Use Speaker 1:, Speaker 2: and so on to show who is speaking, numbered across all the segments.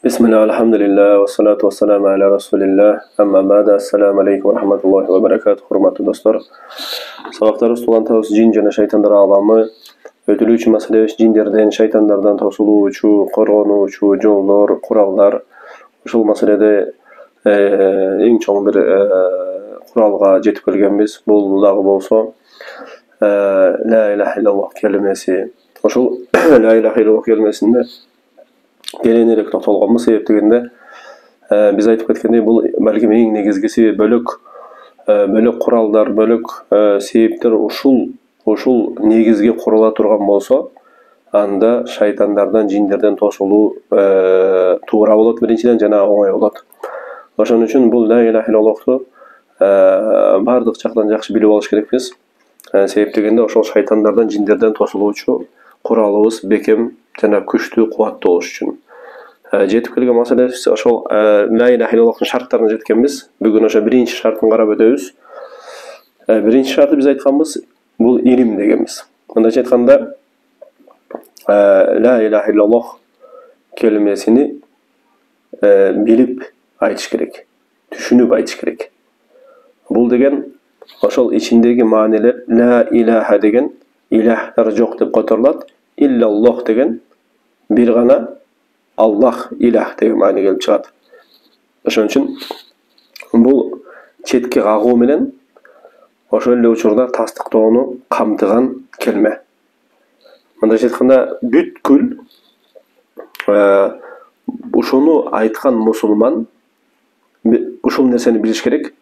Speaker 1: Bismillah, alhamdulillah, wa salatu wa salamu ala rasulillah, amma ba'da, assalamu alaikum wa rahmatullahi wa barakatuh, hurmatly dostlar. Sabaqtarız tuğantağız jin jana şaytanlar alamı, ötülüçü masale jinlerden, şaytanlardan tosuluvçu, korgonuvçu, jollar, kurallar. Uşul masalede eng çoğun bir kuralga jetip kelgenmiz. Bul dagı bolsa la ilahe illallah kelimesi. Uşul la ilahe illallah kelimesinde gelenirek to'xtalganmiz sebeptiginde biz aytып кеткендей бул балким эң негизгиси бөлөк куралдар, бөлөк себептер ушул негизге курула турган болсо, анда шайтандардан, жиндерден тосулуу туура болот биринчиден, жана оңой болот. Ошон үчүн бул ла иляха иллаллахты бардык жактан жакшы билип алыш керекпиз. Себептигинде ошол шайтандардан, жиндерден тосулуучу куралыбыз бекем жана күчтүү, кубаттуу болуш үчүн. Жетип келген маселебиз ошол ла иляха иллаллахтын шарттарына жеткенбиз. Бүгүн ошо биринчи шартын карап өтөбүз. Биринчи шарты биз айтканбыз, бул илим дегенбиз. Мындайча айтканда, ла иляха иллаллах келимесини билип айтыш керек, түшүнүп айтыш керек. Бул деген ошол ичиндеги маанилер ла илаха деген илахтар жок деп которулат, иллаллах деген бир гана Аллах илах деген маани келип чыгат. Ошон үчүн бул четке кагуу менен ошол эле учурда тастыктоону камтыган келме. Мындайча айтканда, бүткүл ушуну айткан мусулман ушул нерсени билиш керек.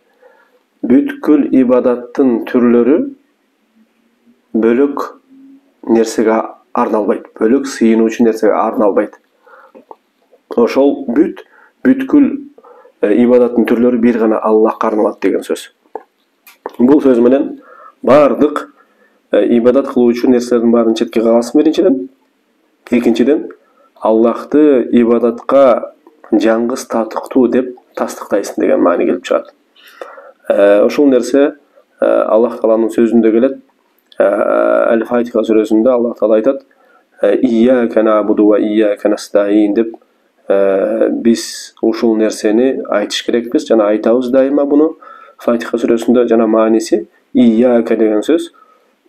Speaker 1: Бүткүл ибадаттын түрлөрү бөлөк нерсеге арналбайт, бөлөк сыйынуучу нерсеге арналбайт. Ошол бүткүл ибадаттын түрлөрү бир гана Аллахка арналат деген сөз. Бул сөз менен бардык ибадат кылуучу нерселердин баарын четке кагасың биринчиден. Экинчиден, Аллахты ибадатка жаңгыз татыктуу деп тастыктайсың деген маани келип чыгат. Ошол нерсе Аллах Тааланын сөзүндө келет. Аль-Фатиха сүрөсүндө Аллах Таала айтат: "Ийяка набуду ва ийяка настаин" деп биз ушул нерсени айтыш керекпиз, жана айтабыз дайыма буну. Фатиха сүрөсүндө жана мааниси ийяка деген сөз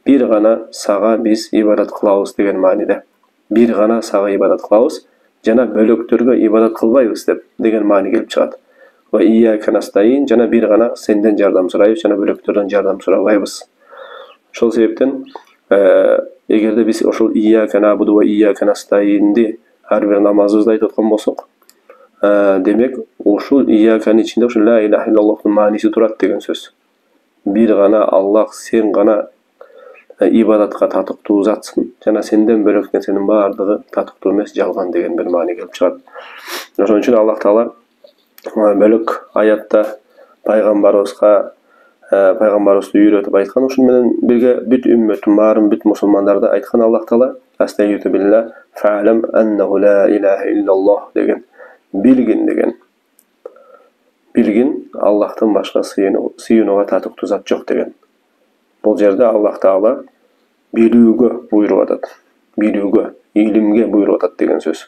Speaker 1: бир гана сага биз ибадат кылабыз деген мааниде. Бир гана сага ибадат кылабыз жана бөлөктөргө ибадат кылбайбыз деген маани келип чыгат. Ва ийяка настаин, жана бир гана сенден жардам сурайбыз, жана бөлөктөрдөн жардам сурабайбыз. Ошол себептен эгерде биз ошол ийяка набуду ва ийяка настаинди ар бир намазыбызда айтып аткан болсок, демек ушул ийяканын ичинде ошол ла иляха иллаллахтын мааниси турат деген сөз. Бир гана Аллах, сен гана ибадатка татыктуу затсың, жана сенден бөлөк нерсенин баардыгы татыктуу эмес, жалган деген бир маани келип чыгат. Ошон үчүн Аллах Таала бөлөк аятта пайгамбарыбызды үйрөтүп айткан, ушун менен бирге бүт үммөттүн баарын, бүт мусулмандарды айткан Аллах Таала: "Астагфиру билlah фа'лам аннаху ла иляха иллаллах" деген. Билгин деген. Билгин Аллахтан башка сыйынууга татыктуу зат жок деген. Бул жерде Аллах Таала билүүгө буйруп атат. Билүүгө, илимге буйруп атат деген сөз.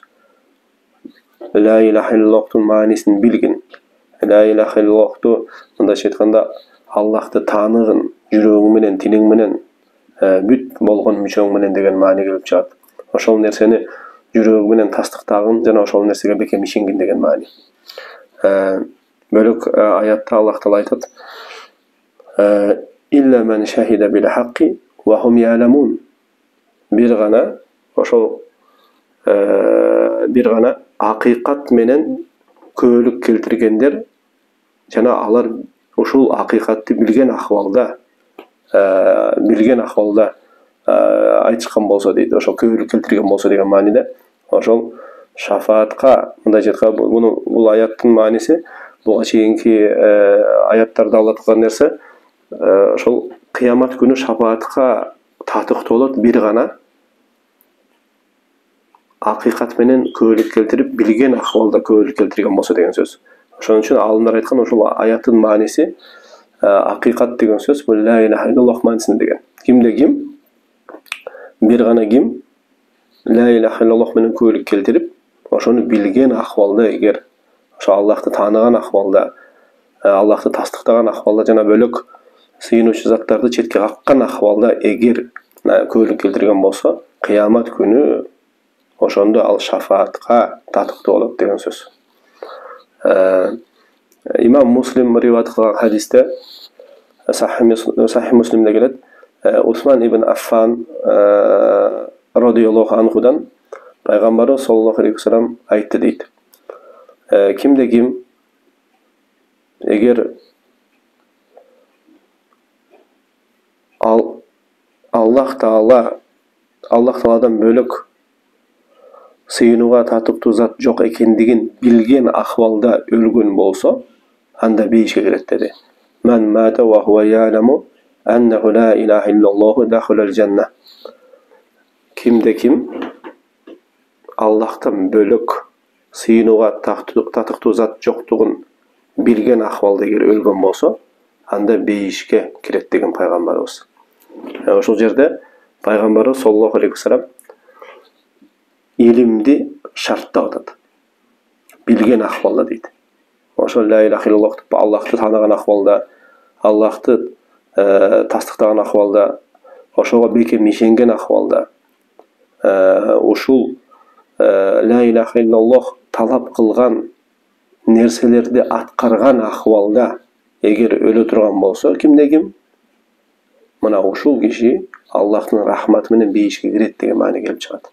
Speaker 1: Ла иляха иллаллахтын маанисин билгин. Ла иляха иллаллахты мындайча айтканда, Аллахты тааныгын жүрөгүң менен, тилиң менен, бүт болгон мүчөң менен деген маани келип чыгат. Ошол нерсени жүрөгүң менен тастыктагын жана ошол нерсеге бекем ишенгин деген маани. Бөлөк аятта Аллах Таала айтат: "Илля мен шахида бил хакки ва хум я'ламун". Бир гана ошол бир гана акыйкат менен көөлүк келтиргендер жана алар ушул акыйкатты билген акыбалда айтышкан болсо дейт, ошол көөлүк келтирген болсо деген мааниде. Ошол шафаатка, мындайча айтканда, бул аяттын мааниси буга чейинки аяттарда Алла айткан нерсе, ошол кыямат күнү шафаатка татыктуу болот бир гана акыйкат менен көөлүк келтирип, билген акыбалда көөлүк келтирген болсо деген сөз. Ошон үчүн алымдар айткан, ошол аяттын мааниси акыйкат деген сөз бул ла иляха иллаллах маанисинде деген. Кимде ким бир гана ким ла иляха иллаллах менен көөлүк келтирип, ошону билген акыбалда эгер ошо Аллахты тааныган акыбалда, Аллахты тастыктаган акыбалда жана бөлөк сыйынуучу заттарды четке каккан акыбалда эгер күбөлүк келтирген болсо, кыямат күнү ошондо ал шафаатка татыктуу болот деген сөз. Имам Муслим риваят кылган хадисте, Сахих Муслимде келет, Усман ибн Аффан радыйаллаху анхудан пайгамбарыбыз саллаллаху алейхи вассалам айтты дейт. Кимде ким эгер Аллах Тааладан бөлөк сыйынууга татыктуу зат жок экендигин билген акыбалда өлгөн болсо, анда бейишке кирет деди. Ман мата ва хуа я'ламу аннаху ла илаха иллаллаху дахалал жанна. Кимде ким Аллахтан бөлөк сыйынууга татыктуу зат жоктугун билген акыбалда эгер өлгөн болсо, анда бейишке кирет деген пайгамбарыбыз. Ошол жерде пайгамбарыбыз саллаллаху алейхи вассалам илимди шарттап атат. Билген акыбалда дейт. Ошо ла илаха иллаллах деп Аллахты тааныган акыбалда, Аллахты тастыктаган акыбалда, ошого бекем ишенген акыбалда, ушул ла илаха иллаллах талап кылган нерселерди аткарган акыбалда эгер өлө турган болсо, кимде ким, мына ушул киши Аллахтын рахматы менен бейишке кирет деген маани келип чыгат.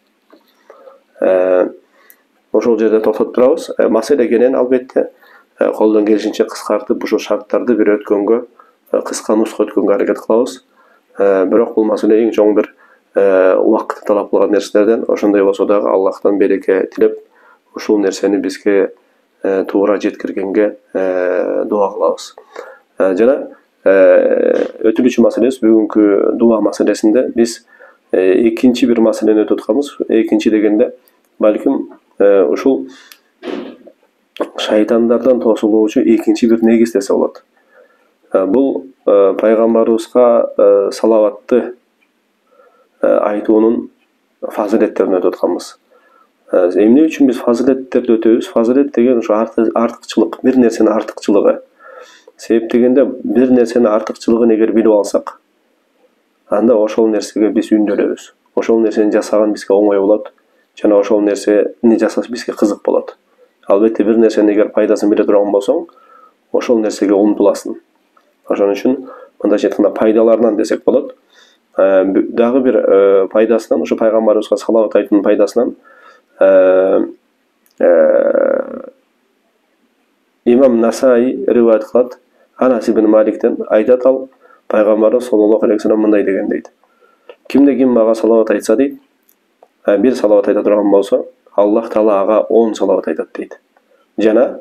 Speaker 1: Ошол жерде токтоп турабыз. Маселе кенен албетте колдон келишинче кыскартып ушул шарттарды бир өткөнгө, кыска нуска өткөнгө аракет кылабыз. Бирок бул маселе эң чоң бир убакытты талап кылган нерселерден. Ошондой болсо дагы Аллахтан береке тилеп, ушул нерсени бизге туура жеткиргенге дуа кылабыз. Жана өтүлүүчү маселебиз бүгүнкү дуа маселесинде биз экинчи бир маселени өтүп атканбыз. Экинчи дегенде балким ушул шайтандардан тосулуучу экинчи бир негиз десе болот. Бул пайгамбарыбызга салаватты айтуунун фазилеттерин өтүп атканбыз. Эмне үчүн биз фазилеттерди өтөбүз? Фазилет деген ушу артыкчылык, бир нерсенин артыкчылыгы. Себеп дегенде бир нерсенин артыкчылыгын эгер билип алсак, анда ошол нерсеге биз үндөлөбүз. Ошол нерсени жасаган бизге оңой болот, жана ошол нерсени жасаш бизге кызык болот. Албетте бир нерсенин эгер пайдасын биле турган болсоң, ошол нерсеге умтуласың. Ошон үчүн мындайча айтканда пайдаларынан десек болот. Дагы бир пайдасынан, ушу пайгамбарыбызга салават айтуунун пайдасынан Имам Насаи риваят кылат. Анас ибн Маликтен айтат, ал пайгамбарыбыз саллаллаху алейхи вассалам мындай деген дейт. Кимде ким мага салават айтса дейт, бир салават айта турган болсо, Аллах Таала ага 10 салават айтат дейт. Жана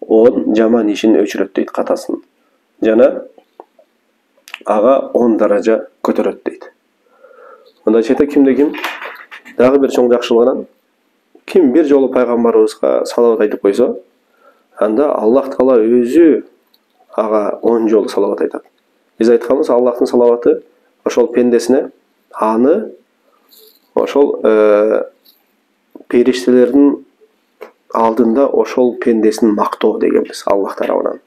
Speaker 1: 10 жаман ишин өчүрөт дейт, катасын. Жана ага 10 даража көтөрөт дейт. Мындайча айта, кимде ким дагы бир чоң жакшылыгынан ким бир жолу пайгамбарыбызга салават айтып койсо, анда Аллах Таала өзү ага 10 жолу салават айтат. Биз айтканбыз, Аллахтын салаваты ошол пендесине, аны ошол периштелердин алдында ошол пендесин мактоо дегенбиз Аллах тарабынан.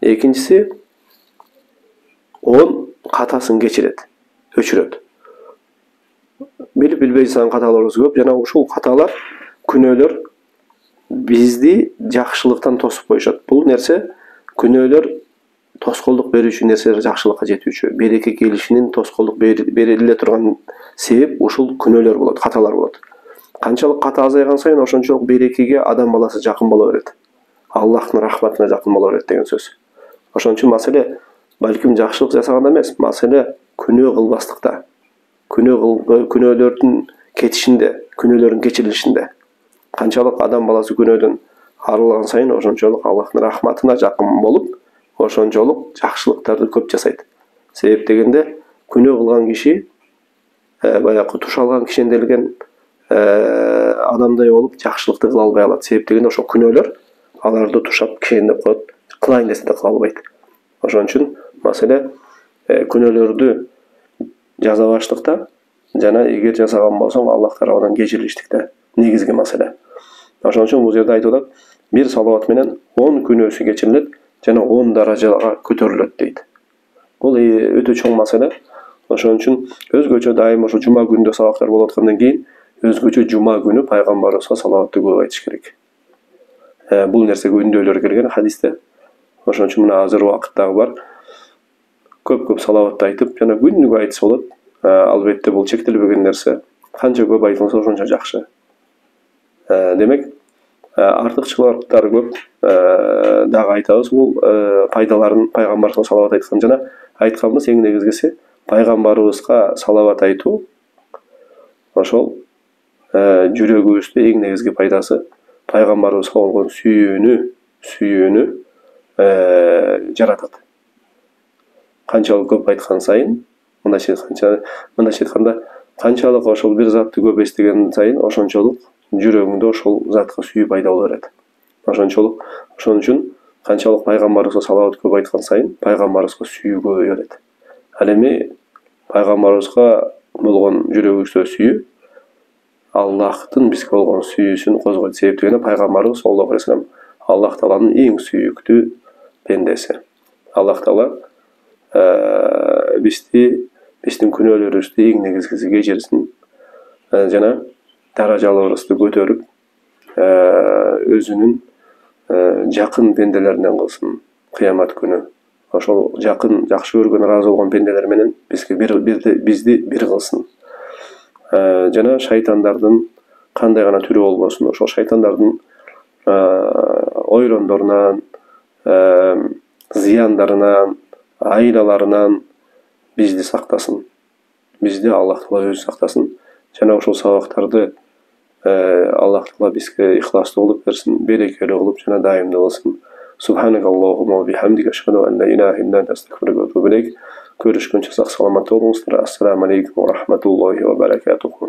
Speaker 1: Экинчиси 10 катасын кечирет, өчүрөт. Билип билбей жасаган каталарыбыз көп, жана ушул каталар, күнөөлөр бизди жакшылыктан тосуп коюшат. Бул нерсе күнөөлөр тоскоолдук берүүчү нерселер жакшылыкка жетүүчү, береке келишинин тоскоолдук бериле турган себеп ушул күнөөлөр болот, каталар болот. Канчалык ката азайган сайын ошончолук берекеге адам баласы жакын боло берет. Аллахтын рахматына жакын боло берет деген сөз. Ошон үчүн маселе балким жакшылык жасаганда эмес, маселе күнөө кылбастыкта. Күнөөлөрдүн кетишинде, күнөөлөрдүн кечирилишинде. Канчалык адам баласы күнөөдөн арылган сайын ошончолук Аллахтын рахматына жакын болуп, ошончолук жакшылыктарды көп жасайт. Себеп дегенде күнөө кылган киши баягы туш алган кишенделген адамдай болуп жакшылыкты кыла албай калат. Себеп дегенде ошол күнөөлөр аларды тушап кишендеп коет, кылайын десе да кыла албайт. Ошон үчүн маселе күнөөлөрдү жаза баштыкта, жана эгер жасаган болсоң Аллах тарабынан кечирилиштикте. негизги маселе. Ошон үчүн бул жерде айтып атат, бир салават менен 10 күнөөсү кечирилет жана 10 даражага көтөрүлөт дейт. Бул өтө чоң маселе. Ошон үчүн өзгөчө дайым ошо жума күнүндө сабактар болуп аткандан кийин өзгөчө жума күнү пайгамбарыбызга салаватты көп айтыш керек. Бул нерсеге үндөөлөр келген хадисте. Ошон үчүн мына азыр убакыттагы бар. Көп салаватты айтып, жана күнүгө айтса болот. Албетте бул чектелбеген нерсе. Канча көп айтылса ошончо жакшы. Демек, артыкчылыктары көп. Дагы айтабыз, бул пайдаларын пайгамбарга салават айткан жана айтканбыз эң негизгиси пайгамбарыбызга салават айтуу. Ошол жүрөгүбүздө эң негизги пайдасы пайгамбарыбызга болгон сүйүүнү жаратат. Канчалык көп айткан сайын, мындайча айтканда, канчалык ошол бир затты көп эстеген сайын, ошончолук жүрөгүңдө ошол затка сүйүү пайда боло берет. Ошон үчүн канчалык пайгамбарыбызга салават көп айткан сайын, пайгамбарыбызга сүйүү көбөйө берет. Ал эми пайгамбарыбызга болгон жүрөгүбүздө сүйүү Аллахтын бизге болгон сүйүүсүн козгойт. Себептен пайгамбарыбыз саллаллаху алейхи вассалам Аллах Тааланын эң сүйүктүү пендеси. Аллах Таала биздин күнөөлөрүбүздү эң негизгиси кечирсин жана даражаларыбызды көтөрүп, өзүнүн жакын пенделеринен кылсын кыямат күнү. Ошол жакын, жакшы көргөн, ыраазы болгон пенделер менен бизди бир кылсын. Жана шайтандардын кандай гана түрү болбосун, ошол шайтандардын ойрондорунан, зыяндарынан, айлаларынан бизди сактасын. Бизди Аллах Таала өзү сактасын. Жана ошол сабактарды Аллах Таала бизге ихластуу кылып берсин, берекелүү кылып жана дайымдуу кылсын. Субханакаллахумма ва бихамдика ашхаду ан ла илаха илля анта астагфирука ва атубу илейк. Көрүшкөнчө сак саламатта болуңуздар. Ассаламу алейкум ва рахматуллахи ва баракатуху.